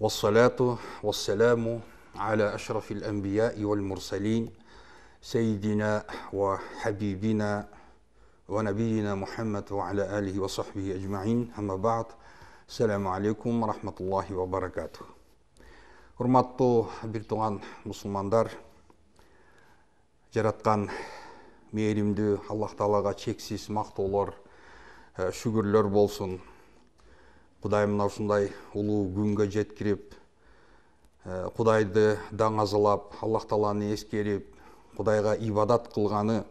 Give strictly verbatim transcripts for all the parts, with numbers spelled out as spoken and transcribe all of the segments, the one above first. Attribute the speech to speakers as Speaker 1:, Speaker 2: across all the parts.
Speaker 1: Вассалату вассаламу аля ашрафил анбияи вал мурсалин сайидина ва хабибина ва набийина Мухаммад ва аля алихи ва сахбихи аджмаин. Амма ба'д. Ассаламу алейкум ва рахматуллахи ва баракатух. Урматтуу бир туган мусулмандар, жараткан мээримдүү Аллах Таалага чексиз мактоолор, шүгүрлөр болсун. Кудай мына ушундай улуу күнгө жеткирип, Кудайды даңазалап, Аллах Тааланы эскерип, Кудайга ибадат кылганы,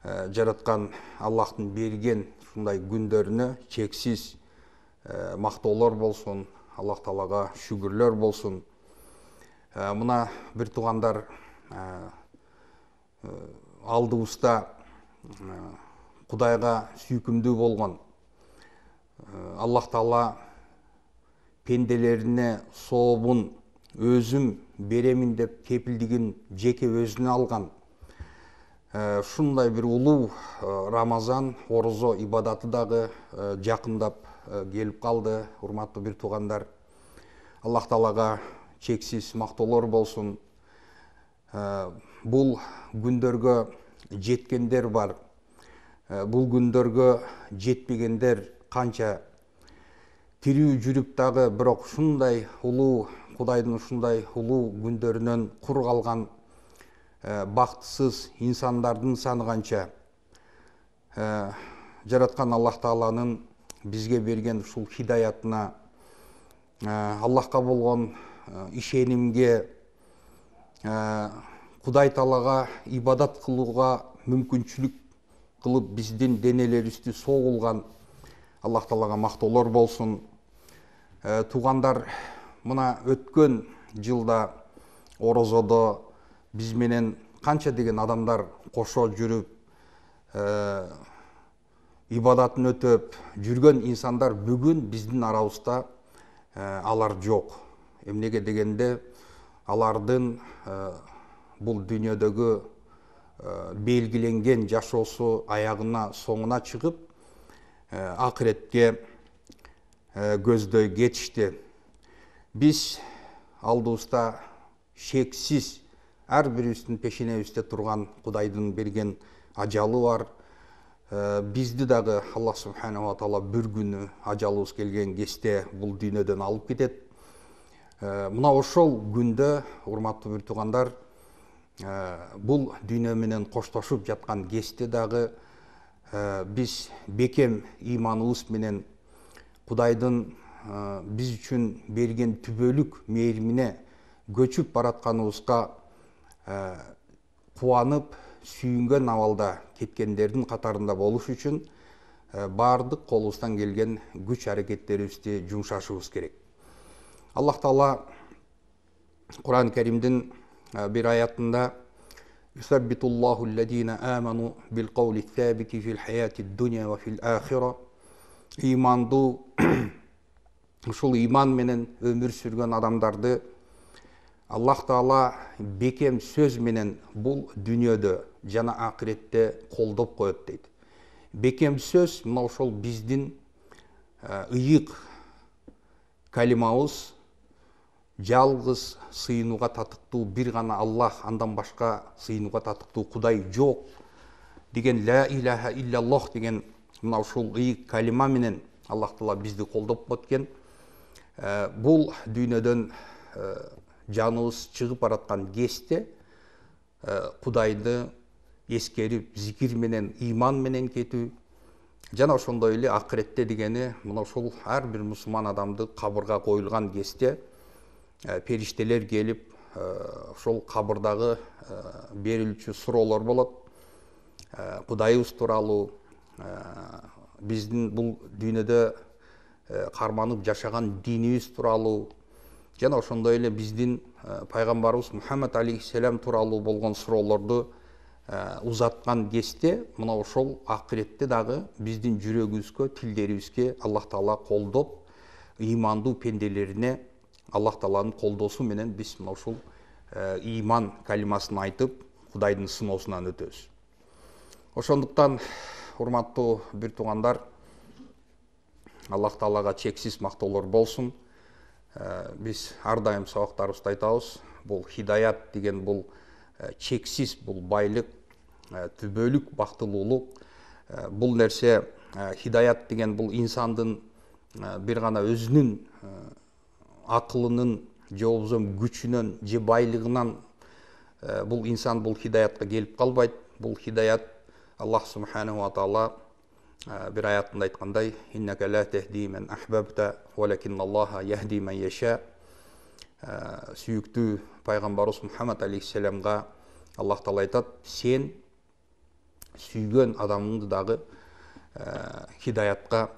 Speaker 1: жараткан Аллахтын берген ушундай күндөрүнө чексиз мактоолор болсун, Аллах Таалага шүгүрлөр болсун. Мына бир тугандар, алдыбызда Кудайга сүйкүмдүү болгон, Аллах Таала пенделерине сообун өзүм беремин деп кепилдигин жеке өзүнө алган ушундай бир улуу Рамазан орозо ибадаты дагы жакындап келип калды. Урматтуу бир тугандар, Аллах Таалага чексиз мактоолор болсун. Бул күндөргө жеткендер бар, бул күндөргө жетпегендер канча. Тирүү жүрүп дагы бирок ушундай улуу Кудайдын ушундай улуу күндөрүнөн кур калган бактысыз инсандардын саны канча. Жараткан Аллах Тааланын бизге берген ушул хидаятына, Аллахка болгон ишенимге, Кудай Таалага ибадат кылууга мүмкүнчүлүк кылып биздин денелерибизди согулган Аллах Таалага мактоолор болсун. Тугандар, мына өткөн жылда орозодо биз менен канча деген адамдар кошо жүрүп, ибадатын өтөп жүргөн инсандар бүгүн биздин арабызда алар жок. Эмнеге дегенде, алардын бул дүйнөдөгү белгиленген жашоосу аягына соңуна чыгып, акыретке көздөй кетишти. Биз алдыбызда шексиз ар бирибиздин пешенебизде турган Кудайдын берген ажалы бар. Бизди дагы Аллах субханаху ва таала бир күнү ажалыбыз келген кезде бул дүйнөдөн алып кетет. Мына ошол күндө, урматтуу бир тугандар, бул дүйнө менен коштошуп жаткан кезде дагы биз бекем иманыбыз менен Кудайдын биз үчүн берген түбөлүк мээримине көчүп баратканыбызга кубанып, сүйүнгөн абалда кеткендердин катарында болуш үчүн баардык колубуздан келген күч аракеттерибизди жумшашыбыз керек. Аллах Таала Кур'ан Каримдин бир аятында «Юсаббитуллаху аллазина аману бил каули сабити фил хаяти дуня ва фил ахира». Имандуу, ушул иман менен өмүр сүргөн адамдарды Аллах Таала бекем сөз менен бул дүйнөдө жана акыретте колдоп коет дейт. Бекем сөз мына ошол биздин ыйык калимабыз, жалгыз сыйынууга татыктуу бир гана Аллах, андан башка сыйынууга татыктуу Кудай жок деген ла илаха иллаллах деген мына ушул ыйык калима менен Аллах Таала бизди колдоп кеткен. Бул дүйнөдөн жаныбыз чыгып бараткан кезде Кудайды эскерип, зикир менен, иман менен кетүү, жана ошондой эле акыретте дегени мына ушул ар бир мусулман адамды кабырга коюлган кезде периштелер келип, ошол кабырдагы берилүүчү суроолор болот. Кудайыбыз тууралуу, биздин бул дүйнөдө карманып жашаган динибиз тууралуу, жана ошондой эле биздин пайгамбарыбыз Мухаммад алейхиссалам тууралуу болгон суроолорду узаткан кезде мына ошол акыретте дагы биздин жүрөгүбүзгө, тилдерибизге Аллах Таала колдоп, имандуу пенделерине Аллах Тааланын колдоосу менен биз мына ушул иман калимасын айтып, Кудайдын сыноосунан өтөбүз. Ошондуктан, урматтуу бир тугандар, Аллах Таалага чексиз мактоолор болсун. Биз ар дайым сабактарыбызда айтабыз, бул хидаят деген бул чексиз, бул байлык, түбөлүк бактылуулук. Бул нерсе, хидаят деген бул инсандын бир гана өзүнүн акылынын же болбосо күчүнөн же байлыгынан бул инсан бул хидаятка келип калбайт. Бул хидаят Аллах субханаху ва таала bir ayatında aytқандай, «Иннака ла техди мен ахбабта, валакинналлаха яхди мен яша». Сүйүктүү пайгамбарыбыз Мухаммад алейхиссаламга Аллах таала айтат, сен сүйгөн адамыңды дагы хидаятка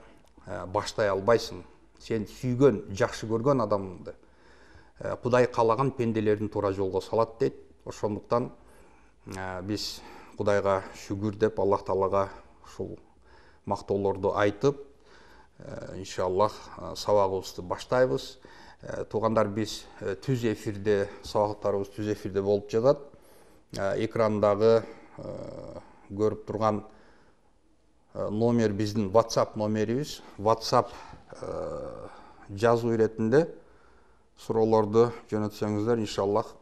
Speaker 1: баштай албайсың. Сен сүйгөн, жакшы көргөн адамыңды Кудай каалаган пенделердин туура жолго салат дейт. Ошондуктан биз Кудайга шүгүр деп Аллах таалага ушул мактоолорду айтып, иншаллах сабагыбызды баштайбыз. Туугандар, биз түз эфирде, сабактарыбыз түз эфирде болуп жатат. Экрандагы көрүп турган номер биздин WhatsApp номерибиз. WhatsApp жазуу иретинде суроолорду жөнөтсөңүздөр, иншаллах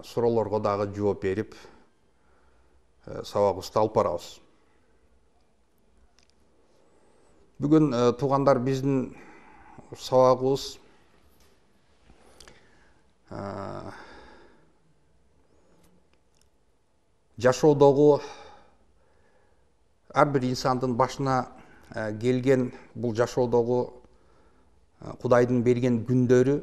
Speaker 1: суроолорго дагы жооп берип сабагыбызды алып барабыз. Бүгүн туугандар, биздин сабагыбыз жашоодогу ар бир инсандын башына келген бул жашоодогу Кудайдын берген күндөрү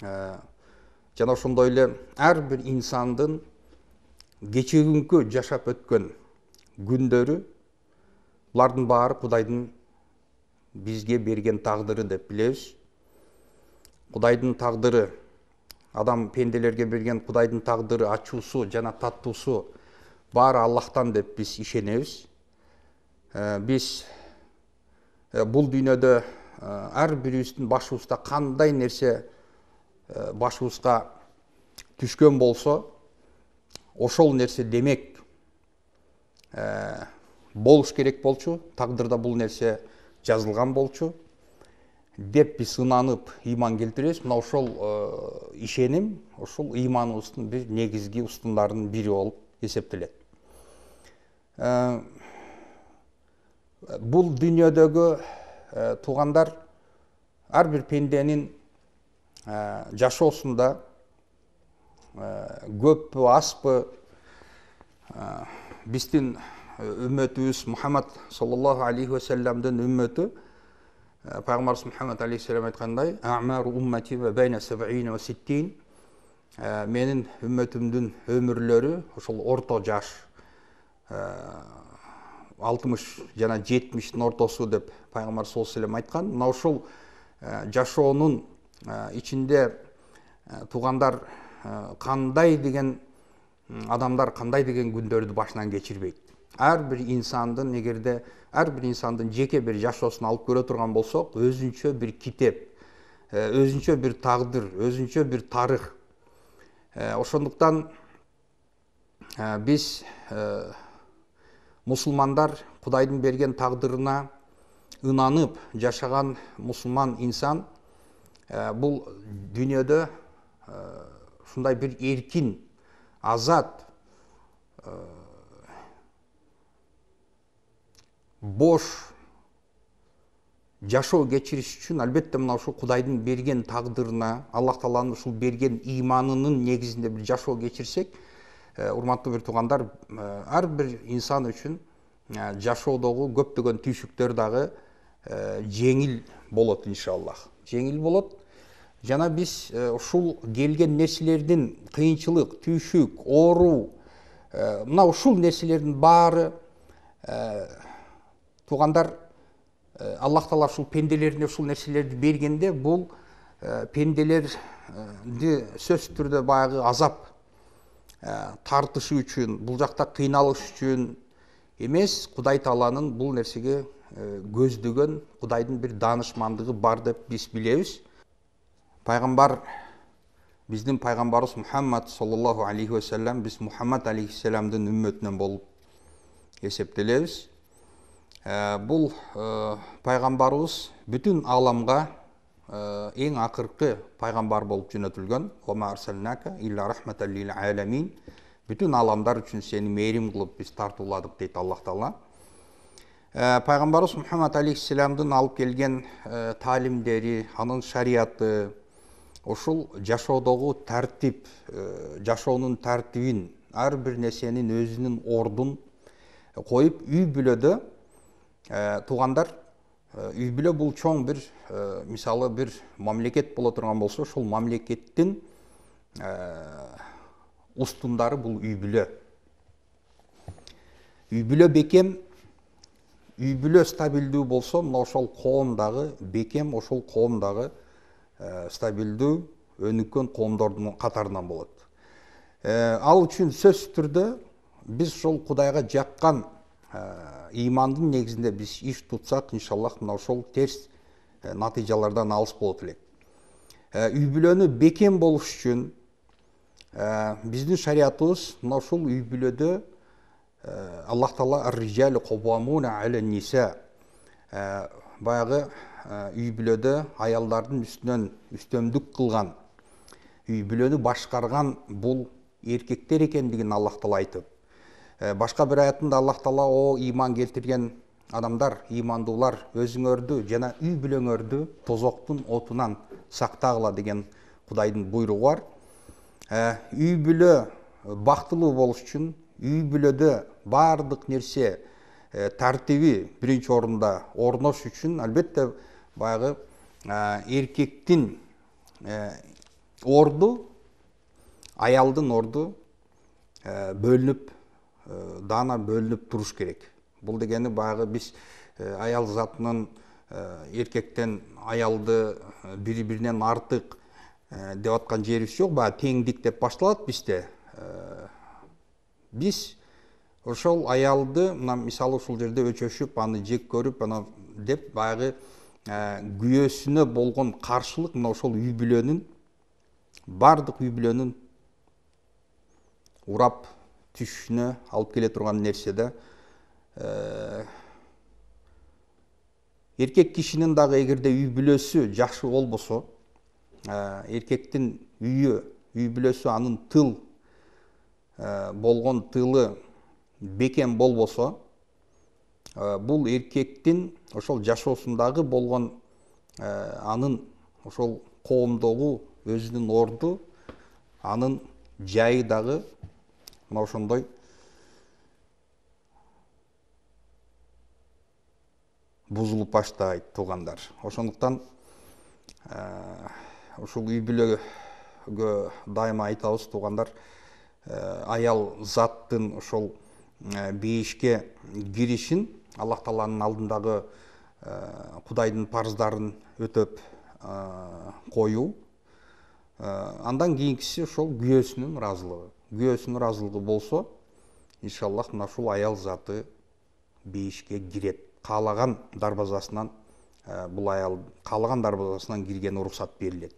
Speaker 1: жана ошондой эле ар бир инсандын кечегүнкү жашап өткөн күндөрү, булардын баары Кудайдын бизге берген тагдыры деп билебиз. Кудайдын тагдыры, адам пенделерге берген Кудайдын тагдыры, ачуусу жана таттуусу баары Аллахтан деп биз ишенебиз. Биз бул дүйнөдө ар бирибиздин башыбызда кандай нерсе башыбызга түшкөн болсо, ошол нерсе демек болуш керек болчу, тагдырда бул нерсе жазылган болчу деп биз ынанып ыйман келтиребиз. Мына ошол ишеним, ошол ыйманыбыздын бир негизги устундарынын бири болуп эсептелет. Бул дүйнөдөгү туугандар, ар бир пенденин жашоосунда көппү, аспы, биздин үммөтүбүз Мухаммад саллаллаху алейхи ва салламдын үммөтү, пайгамбарыбыз Мухаммад алейхиссалам айткандай, «Аъмару уммати ва байна сабъина ва ситтин». Менин үммөтүмдүн өмүрлөрү ошол орто жаш, алтымыш жана жетимиштин ортосу деп пайгамбар саллаллаху алейхи ва саллям айткан. Мына ошол жашоонун ичинде туугандар кандай деген адамдар, кандай деген күндөрдү башынан кечирбейт. Ар бир инсандын, эгерде ар бир инсандын жеке бир жашоосун алып көрө турган болсок, өзүнчө бир китеп, өзүнчө бир тагдыр, өзүнчө бир тарых. Ошондуктан биз мусулмандар Кудайдын берген тагдырына ынанып жашаган мусулман инсан бул дүйнөдө ушундай бир эркин, азат, бош жашоо кечириш үчүн албетте мына ушул Кудайдын берген тагдырына, Аллах тааланын ушул берген ыйманынын негизинде бир жашоо кечирсек, урматтуу бир туугандар, ар бир инсан үчүн жашоодогу көптөгөн түйшүктөр дагы жеңил болот, иншаллах. Жеңил болот. Жана биз ушул келген нерселердин кыйынчылык, түйшүк, оору, мына ушул нерселердин баары туугандар, Аллах таала ушул пенделерине ушул нерселерди бергенде, бул пенделерди сөзсүз түрдө баягы азап тартышы үчүн, бул жакта кыйналыш үчүн эмес, Кудай тааланын бул нерсеге көздөгөн Кудайдын бир даанышмандыгы бар деп биз билебиз. Пайгамбар, биздин пайгамбарыбыз Мухаммад саллаллаху алейхи ва саллям, биз Мухаммад алейхиссаламдын үммөтүнөн болуп эсептелебиз. Бул пайгамбарыбыз бүтүн ааламга эң акыркы пайгамбар болуп жөнөтүлгөн. Ома арсалнака илля рахматал лил аламин. Бүтүн аламдар үчүн сени мээрим кылып биз тартууладык дейт Аллах Таала. Пайгамбарыбыз Мухаммад алейхиссаламдын алып келген таалимдери, анын шарияты, ошол жашоодогу тартип, жашоонун тартибин, ар бир нерсенин өзүнүн ордун коюп, үй бүлөдө туугандар, үй бүлө бул чоң бир, мисалы бир мамлекет боло турган болсо, ошол мамлекеттин устундары бул үй бүлө. Үй бүлө бекем, үй бүлө стабилдүү болсо, мына ошол коомдагы бекем, ошол коомдагы стабилдүү өнүккөн коомдордун катарынан болот. Ал үчүн сөзсүз түрдө биз ошол Кудайга жаккан ыймандын негизинде биз иш тутсак, иншаллах, мына ошол терс натыйжалардан алыс болот элек. Үй бүлөнү бекем болуш үчүн биздин шариятыбыз мына ушул үй бүлөдө Аллах Таала ар-риджалу каввамуна алан ниса, баягы үй бүлөдө аялдардын үстүнөн үстөмдүк кылган, үй бүлөнү башкарган бул эркектер экендигин Аллах Таала айтып, башка бир аятында Аллах Таала о ыйман келтирген адамдар, ыймандуулар, өзүңөрдү жана үй бүлөңөрдү тозоктун отунан сактагыла деген Кудайдын буйругу бар. Үй бүлө бактылуу болуш үчүн, үй бүлөдө баардык нерсе тартиби биринчи орунда орнош үчүн, албетте баягы эркектин орду, аялдын орду бөлүнүп, даана бөлүнүп туруш керек. Бул дегени баягы биз аял затынын эркектен аялды бири-биринен артык деп аткан жерибиз жок, баягы теңдик деп башталат бизде. Биз ошол аялды, мына мисалы ушул жерде өчөшүп, аны жек көрүп, ана деп баягы күйөөсүнө болгон каршылык мына ошол үй бүлөнүн, бардык үй бүлөнүн урап түшүшүнө алып келе турган нерседе. Эркек кишинин дагы эгерде үй бүлөсү жакшы болбосо, эркектин үйү, үй бүлөсү анын тыл болгон тылы бекем болбосо, бул эркектин ошол жашоосундагы болгон анын ошол коомдогу өзүнүн орду, анын жайы дагы мына ошондой бузулуп баштайт, туугандар. Ошондуктан ушул үй бүлөгө дайыма айтабыз, туугандар, аял заттын ошол бейишке киришин, Аллах Тааланын алдындагы Кудайдын парыздарын өтөп коюу, андан кийинкиси ошол күйөөсүнүн ыраазылыгы. Күйөөсүнүн ыраазылыгы болсо, иншаллах, мына ушул аял заты бейишке кирет. Каалаган дарбазасынан, бул аял каалаган дарбазасынан киргени уруксат берилет.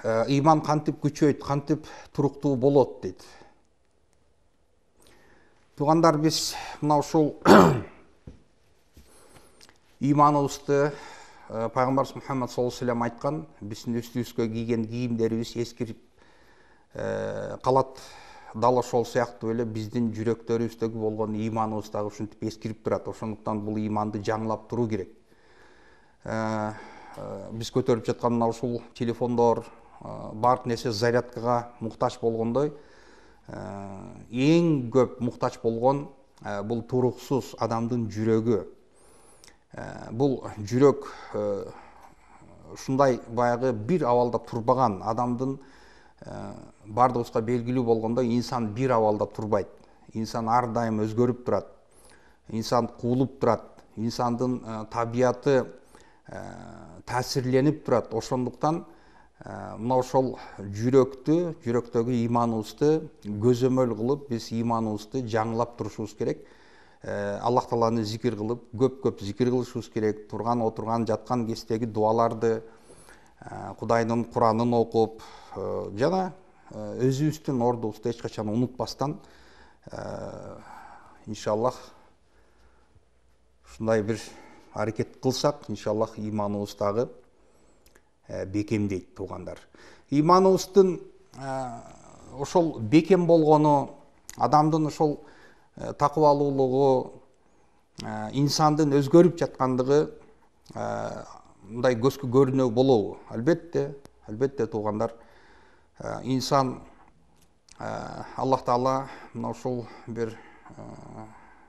Speaker 1: Ыйман кантип күчөйт, кантип туруктуу болот дейт. Туугандар, биз мына ушул ыйманыбызды Пайгамбарыбыз Мухаммад саллаллаху алейхи ва саллям айткан, биздин үстүбүзгө кийген кийимдерибиз эскирип калат. Дал ошол сыяктуу эле биздин жүрөктөрүбүздөгү болгон ыйманыбыз дагы ушинтип эскирип турат. Ошондуктан бул ыйманды жаңылап туруу керек. Биз көтөрүп жаткан мына ушул телефондор, бардык нерсе зарядкага муктаж болгондой, эң көп муктаж болгон бул туруксуз адамдын жүрөгү. Бул жүрөк ушундай баягы бир абалда турбаган адамдын, бардыгыбызга белгилүү болгондой, инсан бир абалда турбайт. Инсан ар дайым өзгөрүп турат. Инсан куулуп турат. Инсандын табияты таасирленип турат. Ошондуктан мына ошол жүрөктү, жүрөктөгү ыйманыбызды көзөмөл кылып, биз ыйманыбызды жаңылап турушубуз керек. Аллах Тааланы зикир кылып, көп-көп зикир кылышыбыз керек. Турган, отурган, жаткан кездеги дуаларды, Кудайдын Куранын окуп, жана өзүбүздүн ордубузду эч качан унутпастан, иншаллах, ушундай бир аракет кылсак, иншаллах ыйманыбыз дагы бекемдейт туугандар. Ыйманыбыздын ошол бекем болгону, адамдын ошол такыбалуулугу, инсандын өзгөрүп жаткандыгы мындай көзгө көрүнүү болобу? Албетте, албетте туугандар. Инсан Аллах Таала мына ушул бир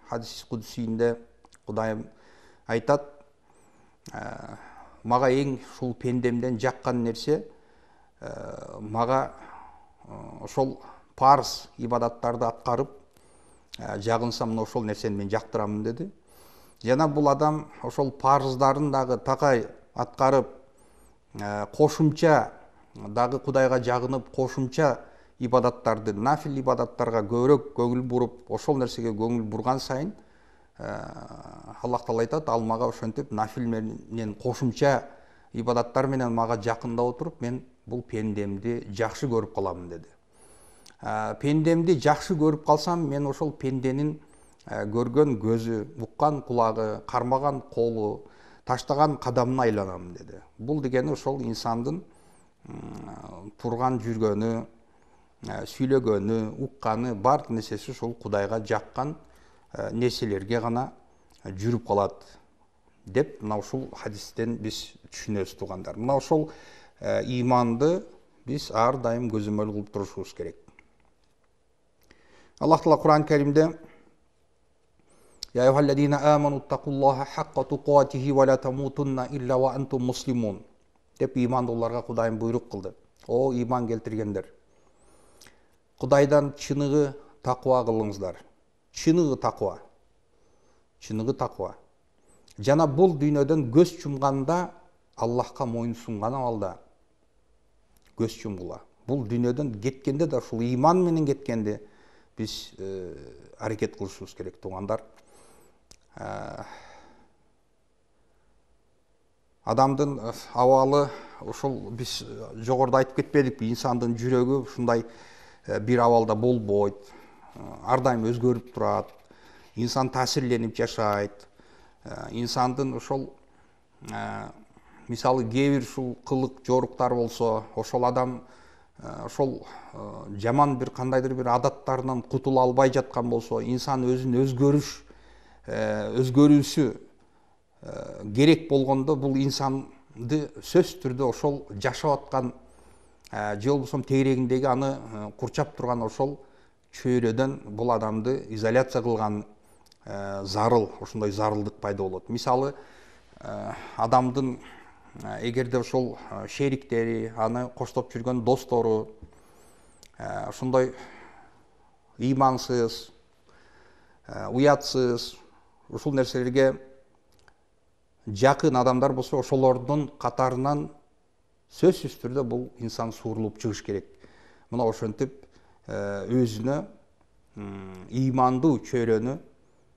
Speaker 1: хадис кудусийинде Кудайым айтат: мага эң ушул пендемден жаккан нерсе мага ошол парыз ибадаттарды аткарып жагынса, мына ошол нерсени мен жактырамын деди. Жана бул адам ошол парыздарын дагы такай аткарып, кошумча дагы Кудайга жагынып, кошумча ибадаттарды, нафил ибадаттарга көбүрөөк көңүл буруп, ошол нерсеге көңүл бурган сайын Аллах Таала айтат: ал мага ошентип нафил менен кошумча ибадаттар менен мага жакындап отуруп, мен бул пендемди жакшы көрүп каламын деди. Пендемди жакшы көрүп калсам, мен ошол пенденин көргөн көзү, уккан кулагы, кармаган колу, таштаган кадамына айланам деди. Бул дегени ошол инсандын турган жүргөнү, сүйлөгөнү, укканы, баардык нерсеси ошол Кудайга жаккан нерселерге гана жүрүп калат деп мына ушул хадистен биз түшүнөбүз туугандар. Мына ошол ыйманды биз ар дайым көзөмөл кылып турушубуз керек. Аллах Таала Кур'ан Каримде: «Я айюхаллазина аману тақуллаха хаққа туқатихи ва ла тамутунна илля ва антум муслимун» деп ыймандууларга Кудайым буйрук кылды. О ыйман келтиргендер, Кудайдан чыныгы таква кылыңыздар. Чыныгы таква. Чыныгы таква. Жана бул дүйнөдөн көз чумганда Аллахка мойын сунган абалда көз чумгула. Бул дүйнөдөн кеткенде да ушул ыйман менен кеткенде биз аракет кылышыбыз керек туугандар. Адамдын абалы ошол биз жогоруда айтып кетпедикпи, инсандын жүрөгү ушундай бир абалда болбойт, ар дайым өзгөрүп турат, инсан таасирленип жашайт. Инсандын ошол мисалы кээ бир ушул кылык жоруктар болсо, ошол адам ошол жаман бир кандайдыр бир адаттарынан кутула албай жаткан болсо, инсан өзүн өзгөрүш өзгөрүүсү керек болгондо, бул инсанды сөзсүз түрдө ошол жашап аткан же болбосо тегерегиндеги аны курчап турган ошол чөйрөдөн бул адамды изоляция кылган зарыл, ошондой зарылдык пайда болот. Мисалы, адамдын эгерде ошол шериктери, аны коштоп жүргөн достору ошондой ыймансыз, уятсыз, ушул нерселерге жакын адамдар болсо, ошолордун катарынан сөзсүз түрдө бул инсан суурулуп чыгыш керек. Мына ошентип өзүнө ыймандуу чөйрөнү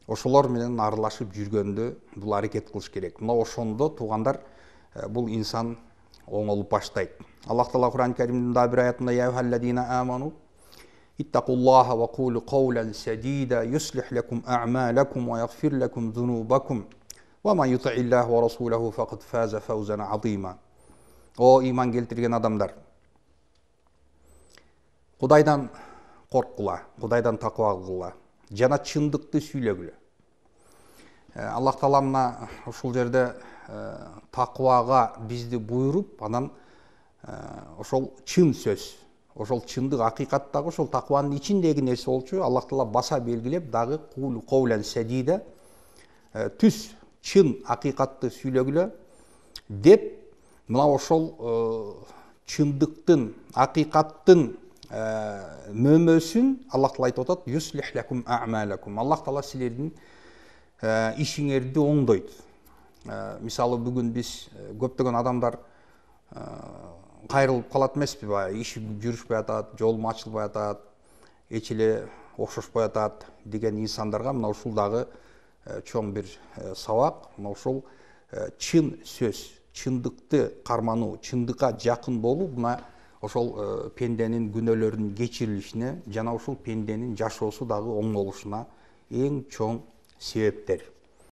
Speaker 1: ошолор менен аралашып жүргөндө бул аракет кылыш керек. Мына ошондо туугандар бул инсан оңолуп баштайт. Аллах Таала Кур'ан Каримдин да бир аятында: «Я айюхаллазина аману иттакуллаха ва кулу каулан садида юслих лакум а'малакум ва ягфир лакум зунубакум ва ман юти'иллаха ва расулаху факад фаза фаузан азима». О ыйман келтирген адамдар, Кудайдан корккула, Кудайдан таква кылгыла, жана чындыкты сүйлөгүлө. Аллах Таала мына ушул жерде таквага бизди буйруп, анан ошол чын сөз, ошол чындык акыйкаттагы ошол такванын ичиндеги нерсе болчу Аллах Таала баса белгилеп, дагы кулу каулан садида, түз чын акыйкатты сүйлөгүлө деп, мына ошол чындыктын, акыйкаттын мөмөсүн Аллах Таала айтып атат: «Юслих лакум а'малакум». Аллах Таала силердин ишиңерди оңдойт. Мисалы, бүгүн биз көптөгөн адамдар кайрылып калат эмеспи, баягы иши жүрүшпөй атат, жолум ачылбай атат, эч эле окшошпой атат деген инсандарга мына ушул дагы чоң бир сабак. Мына ушул чын сөз, чындыкты кармануу, чындыкка жакын болуу мына ошол пенденин күнөөлөрүнүн кечирилишине жана ушул пенденин жашоосу дагы оңолушуна эң чоң себептер.